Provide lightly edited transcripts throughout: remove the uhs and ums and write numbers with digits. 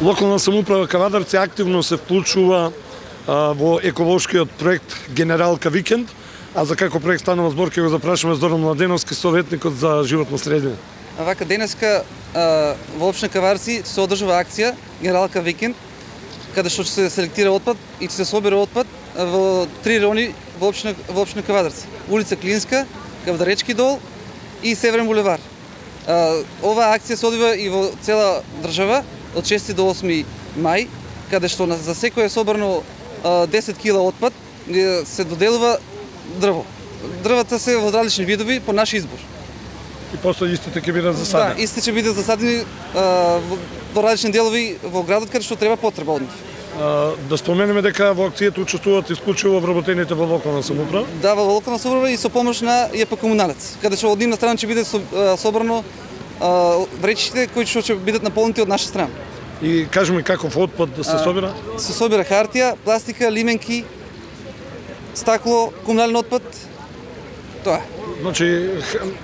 Локална самоуправа Кавадарци активно се вклучува во еколошкиот проект Генералка Викенд, а за како проект станува збор ќе го запрашаме Зоран Младеновски, советникот за животна средина. Вака денеска во општина Кавадарци се одржува акција Генералка Викенд, каде што ќе се селектира отпад и ќе се собира отпад во 3 райони во општина Кавадарци. Улица Клинска, Кавдаречки дол и Северен булевар. Оваа акција се одвива и во цела држава од 6 до 8 мај, каде што за секој е собрано 10 кила отпад се доделува дрво. Дрвата се во различни видови по наш избор. И после истите ќе бидат засадени? Да, истите ќе бидат засадени во различни делови во градот каде што треба потреба од нив. Да споменеме дека во акцијата учествуваат исклучиво вработените во локална самоуправа? Да, во локална самоуправа и со помош на ЈП Комуналец, каде што од нивна страна ќе биде собрано вречите кои ќе бидат наполнети од наша страна. И кажеме каков отпад да се собира? Се собира хартија, пластика, лименки, стакло, комунален отпад. Тоа. Значи,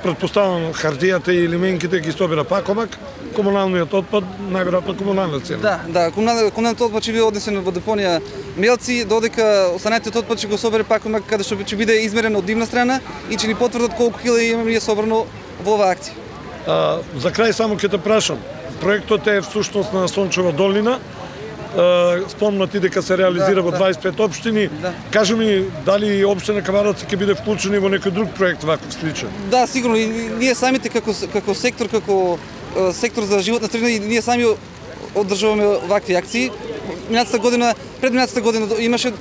претпоставам хартијата и лименките ги собира Пакомак, комуналниот отпад најверојатно комунална цена. Да, комуналниот отпад ќе биде однесен во депонија Мелци, додека останатиот отпад ќе го собере Пакомак, каде што ќе биде измерен од нивна страна и ќе ни потврдат колку кила имаме ние собрано во оваа акција. За крај само ќе те прашам, проектот е всушност на Сончева долина. Спомна ти дека се реализира во 25 општини. Да. Кажи ми, дали општина Кавадарци ќе биде вклучени во некој друг проект ваков сличен? Да, сигурно. И ние самите како сектор, сектор за животна средина, и ние сами одржуваме вакви акции. Пред минатата година имаше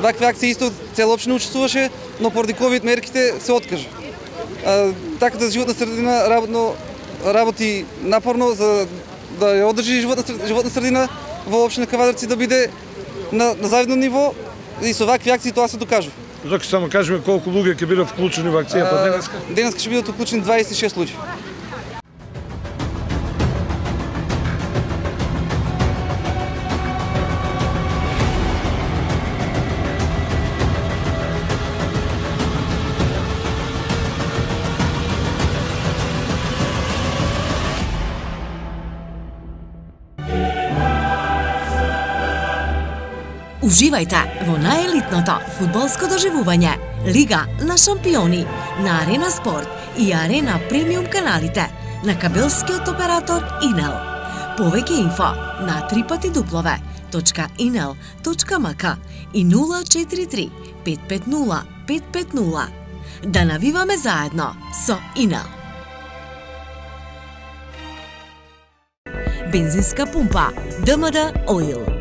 вакви акции, исто цела општина учествуваше, но поради ковид мерките се откажа. Така да животна средина работи напорно за да ја одржи животна средина во општина Кавадарци да биде на завидно ниво и со вакви акции тоа се докажува. Зоки само кажеме колку луѓе ќе бидат вклучени во акцијата денеска? Денеска ќе бидат вклучени 26 луѓе. Уживајте во најелитното фудбалско доживување Лига на шампиони на Арена Спорт и Арена Премиум каналите на кабелскиот оператор Инел. Повеќе инфо на www.inel.mk и 043 550 550. Да навиваме заедно со Инел. Бензинска пумпа ДМД Оил.